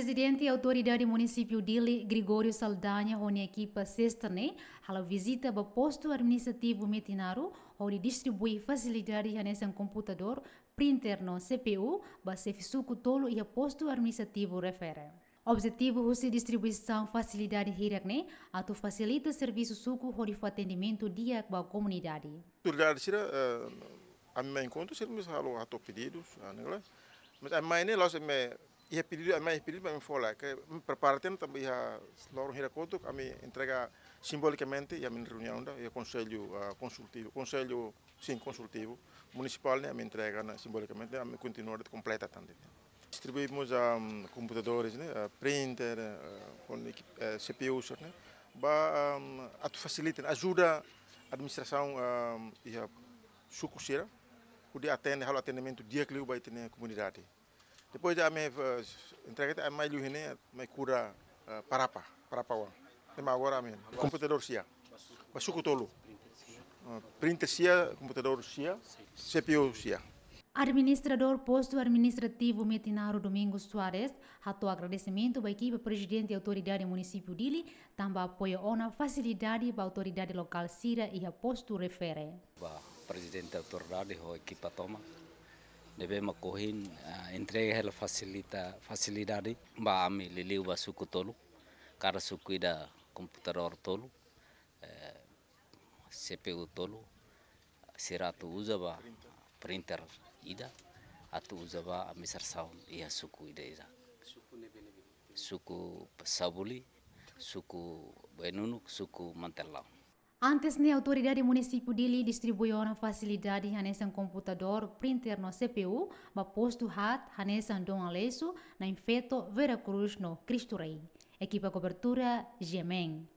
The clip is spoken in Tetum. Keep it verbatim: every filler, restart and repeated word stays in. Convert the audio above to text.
Prezidente Autoridade Munisípiu Dili, Gregório Saldanha, ho nia ekipa Sesta ne'e halo vizita ba postu administrativu Metinaro, hodi distribui fasilidade hanesan komputadór, printer no C P U ba xefe suku tolu iha postu administrativu refere. Objetivu husi distribuisaun fasilidade hirak ne'e atu fasilita servisu suku hodi fó atendimentu di'ak ba komunidade. Autoridade sira, eh, ami mai enkontru, sira mós halo hato'o pedidus, ah, ne'e la. Mas ami mai ne'e la'ós ami iha pedidu, ami mai iha pedidu, ami fó lai, ke prepara tiha, tanba iha loron hirak kotuk, ami entrega simbolikamente, iha ami-nia reuniaun ida, iha konsellu, ah, konsultivu, konsellu, sin, konsultivu munisipál ne'e, ami entrega ona simbolikamente, ami kontinua de'it, kompleta tan de'it. Distribuímos, ah, komputadores, ne'e, ah, printer, ah, ho ekipa, eh, C P Us, ne'e, ba, ah, atu fasilita, ajuda administrasaun, ah, iha suku sira, hodi atende, halo atendimentu di'ak liu ba ita-nia komunidade. Depois de ami, eh, entrega tiha, ami mai liu iha ne'e, mai kuda, eh, Parapa, Parapa oan. Ema agora ami komputadór sia, ba suku tolu. Eh, printer sia, komputadór sia, C P U sia. Administradór Postu Administrativu Metinaro, Domingos Soares, hato'o agradesimentu ba ekipa Prezidente Autoridade Munisípiu Dili, tanba apoia ona fasilidade ba autoridade lokál sira iha postu refere. Ba Prezidente Autoridade ho ekipa tomak, ne'ebé mak ohin, ah, entrega hela fasilita, fasilidade ba ami liuliu ba suku tolu, kada suku ida komputadór tolu, eh, C P U tolu, sira atu uza ba printer ida, atu uza ba administrasaun iha suku ida-idak. Suku Sabuli, suku Bainunuk, suku Mantelau. Antes ne'e, Autoridade Munisípiu Dili distribui ona fasilidade hanesan komputadór, printer no C P U ba postu haat hanesan Dom Aleixo, Na'in Feto, Vera Cruz no Cristo Rei. Ekipa kobertura, G M N.